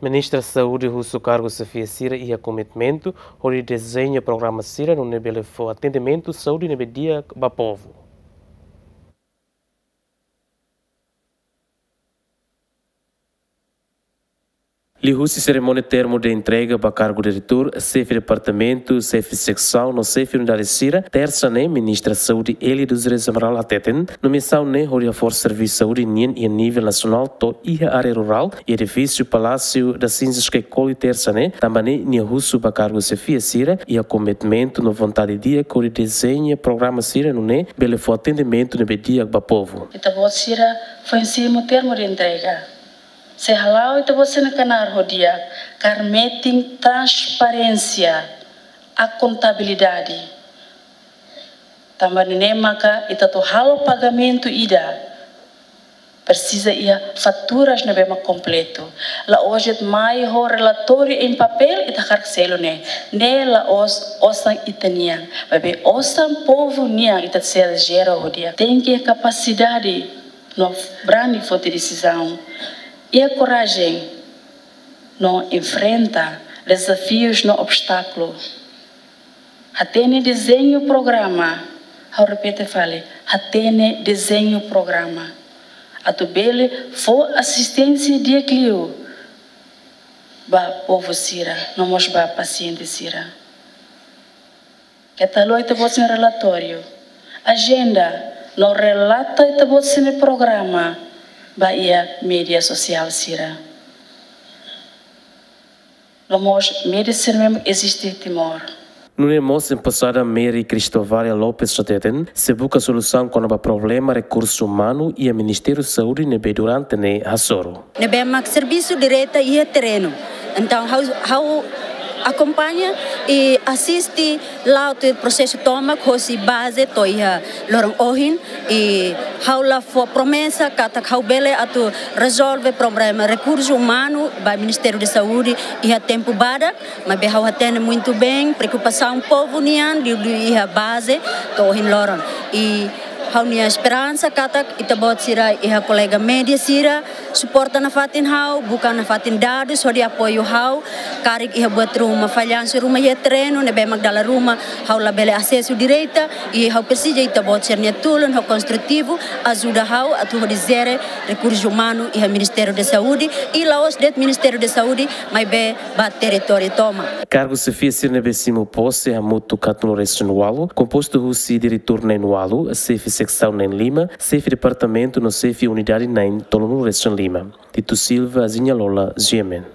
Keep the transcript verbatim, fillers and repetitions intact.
Ministra Saúde husu kargu xefia sira iha kometimentu hodi dezeña programa sira nune'e bele fó atendimentu saúde ne'ebé di'ak ba povu. Liuhusi serimónia termu de entrega ba kargu diretór, xefe departamentu, xefe seksaun no xefe unidade sira, tersa ne'e, Ministra Saúde Élia dos Reis Amaral hateten, nomeasaun ne'e hodi haforsa servisu saúde nian iha nivel nasionál to'o iha área rurál, iha edifísiu Palásiu das Cinzas Caicoli, tersa ne'e, tanba ne'e nia husu ba kargu xefia sira iha kometimentu no vontade di'ak hodi dezeña programa sira nune'e bele fó atendimentu ne'ebé di'ak ba povu. Ita-boot sira foin simu termu de entrega. Se hala'o ita-boot sira-nia knaar ho di'ak, kaer metin transparénsia, akontabilidade. Tanba ne'e maka ita atu halo pagamentu ida, presiza iha faturas ne'ebé mak kompletu. La'ós de'it mai ho relatóriu em papel ita hakarak selu ne'e. Ne'e la'ós osan ita-nian. Maibé osan povu nian ita sei jere ho di'ak. Tenke kapasidade no brani foti desizaun. Iha korajen no enfrenta dezafius no obstákulu. Hatene dezeñu programa, ha'u repete fali, hatene dezeñu programa. Atu bele fó asisténsia di'ak liu ba povu sira, no mós ba pasiente sira. Keta haluha ita-boot sira-nia relatóriu, ajenda, no relata ita-boot sira-nia programa ba iha média sosiál sira. No mós média sira ne'ebé eziste iha Timor. Nune'e mós emposada Mary Cristovalia Lopes hateten, sei buka solusaun kona-ba problema rekursu umanu iha Ministériu Saúde ne'ebé durante ne'e hasoru. Ne'ebé mak servisu direta iha terrenu. Entaun, ha'u, ha'u akompaña i asiste la'o tiha prosesu tomak hosi baze to'o iha loron ohin, i ha'u la fó promesa katak ha'u bele atu rezolve problema rekursu umanu ba Ministériu de Saúde iha tempu badak, maibé ha'u hatene muitu bein preokupasaun povu nian liuliu iha baze to'o ohin loron. I ha'u-nia esperansa katak ita-boot sira iha kolega média sira suporta nafatin ha'u, buka nafatin dadus hodi apoiu ha'u, karik iha buat ruma, fallansu ruma iha terrenu, ne'ebé mak dala ruma ha'u labele asesu direta, i ha'u presiza ita-boot sira-nia tulun ho konstrutivu, ajuda ha'u atu hodi jere rekursu umanu iha Ministériu de Saúde, i la'ós de'it Ministériu de Saúde, maibé ba territóriu tomak. Kargu xefia sira ne'ebé simu pose hamutuk haatnulu-resin-ualu, kompostu husi diretór na'in-ualu, xefe seksaun na'in-lima, xefe departamentu no xefe unidade na'in-tolunulu-resin-lima. Tito Silva, Zinha Lola, G M N.